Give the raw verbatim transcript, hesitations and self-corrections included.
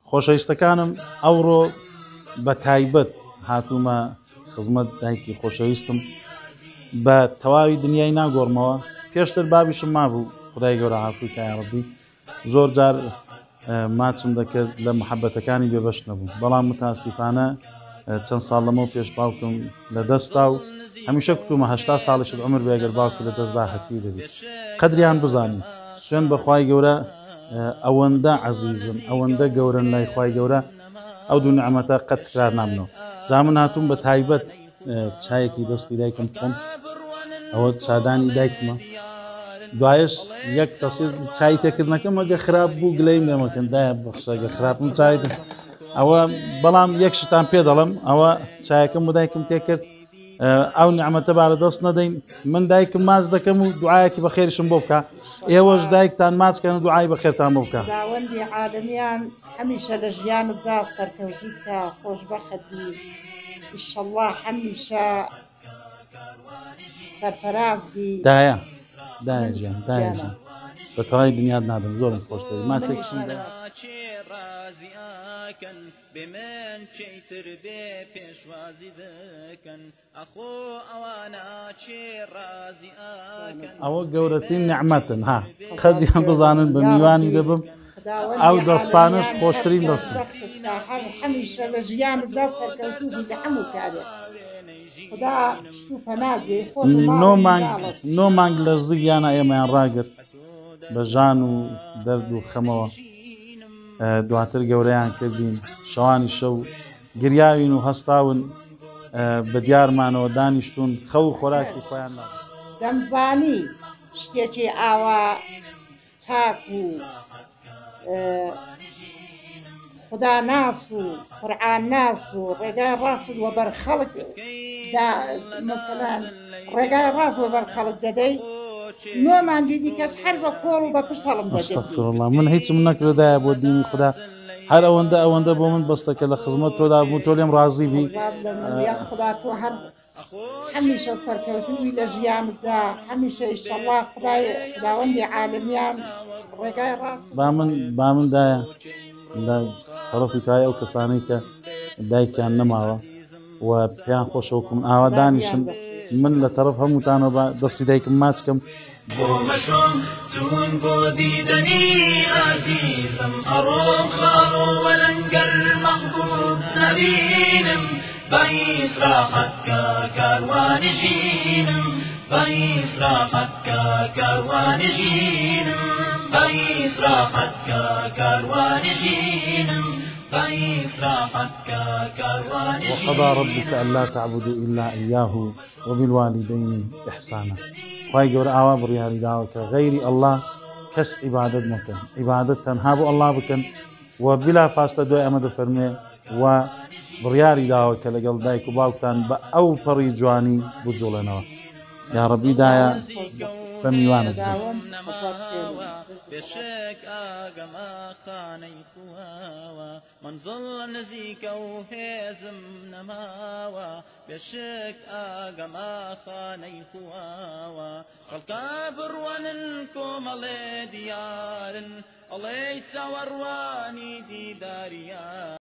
خۆشەویستەکانم ئەوڕۆ بە تایبەت هاتوومە خزمەت دایکی خۆشەویستم، بە تەواوی دنیای ناگۆڕمەوە. پێشتر بابیشم مابوو، خدای گەورە عافوی کە یا ڕەبی، زۆر جار ماچم دەکرد لە محەبەتەکانی بێبەش نەبوو، بەڵام متاسیفانە چەند ساڵ لەمەو پێش باوکم لە دەستا و هەمیشە کوتومە هەشتا ساڵیشت عمر بێ ئەگەر باوکی لە دەستدا هەتیو دەبی. قەدریان بزانین، سوێن بە خوای گەورە ئەوەندە عەزیزن، ئەوەندە گەورن لای خوای گەورە، ئەو دوو نعمەتە قەت تکرار نامنەوە. جا من هاتووم بە تایبەت چایەکی دەستی دایکم بخۆم، ئەوە چادانی دایکمە. دوایش یەک تەسیر چای تێکردنەکەم ئەگە خراپ بوو گلەیم لێ مەکەن، دایە بەخشە ئەگە خراپم چای ئەوە، بەڵام یەک شتان پێ دەڵم، ئەوە چایەکەم بۆ دایکم تێکرد، ئەو نیعمەتە با لە دەست نەدەین. من دایکم ماچ دەکەم و دوعایەکی بەخێریشم بۆ بکە، ئێوەش دایکتان ماچکەن و دوعای بەخێرتان بۆ بکە. خداوەندی عالەمیان هەمیشە لە ژیانتدا سەرکەوتوو بکە، خۆشبەخت بی ئینشەڵڵا، هەمیشە سەرفەراز بی. دایە دایە گیان، دایە گیان، بە تەواوی دنیات نادەم، زۆرم خۆش دەوێت. ماچێکیشم دایە. بمن چیتر بێ پێشوازی دەکەن، ئەخۆ ئەوانە چێ ڕازی ئاکەن. ئەوە گەورەترین نیعمەتن، ها قەدریان بزانن بە میوانی دەبم، ئەو دەستانش خۆشترین دەستن. هەمیشە لە ژیانتدا سەرکەوتوو بی لە هەموو کارێک، خدا پشت و پەنات بێ، خۆت و ماڵ نۆ و مانگ مناڵت. نۆ مانگ لە زگیانە ئێمەیان ڕاگرت بە ژان و دەرد و خەمەوە، دواتر گەورەیان کردین، شەوانی شەو گریاوین و هەستاون بە دیارمانەوە دانیشتون، خەو و خۆراکی خۆیان نابن. دەمزانی شتێکی ئاوا چاک و خوداناس و قورئانناس و ڕێگای ڕاستت وەبەر خەڵک دا، مەسەلەن ڕێگای ڕاست وەبەر خەڵک دەدەی، نۆ مانگی دیکەش هەر بە کۆڵ و بە پشت هەڵم دەگرتی. ئەستەغفرالله، من هیچم نەکردایە بۆ دینی خدا، هەر ئەوەندە ئەوەندە بۆ من بەستە کە لە خزمەت تۆدا بوو، تۆ لێم ڕازی بی. خزمەت لە من، یا خدا تۆ هەر هەمیشە سەرکەوتووی لە ژیانتدا، هەمیشە ئینشەڵڵا خدای خداوەندی عالەمیان ڕێگای ڕاست. با من با من دایە لە تەڕەفی تای ئەو کەسانەی کە دایکیان نەماوە و پێیان خۆشە وەکو من ئاوا دانیشن، من لە تەڕەف هەمووتانەوە بە دەستی دایکم ماچکەم. بۆ مەچۆم چون بۆ دیدەنی ئازیزم، ئەڕۆم خاڵۆ وەلەنگەر مەحبوب نەبینم، بە ئیسراحەت کە کاروانی ژینم، بە ئیسراحەت کە کاروانی ژینم، بە ئیسراحەت کە کاروانی ژینم، بە ئیسراحەت کە کاروانی ژینم. وقضى ربك ألا تعبدوا إلا إياه وبالوالدين إحسانا. خوای گەورە ئاوا بڕیاری داوە کە غەیری ئەلله کەس عیبادەت مەکەن، عیبادەت تەنها بۆ ئەلله بکەن و بلا فاستە دوای ئەمە دەفەرمێ و بڕیاری داوە کە لەگەڵ دایک و باوکتان بە ئەو پەڕی جوانی بجوڵێنەوە. یا ڕەبی دایە بە میوانت بێ. بێشک ئاگەمە خانەی خواوە، منزڵ نزیکە و هێزم نەماوە، بێشک ئاگەمە خانەی خواوە، خەڵکە بڕوانن کۆمەڵێ دیارن، ئەڵێی چاوەڕوانی دیداریان.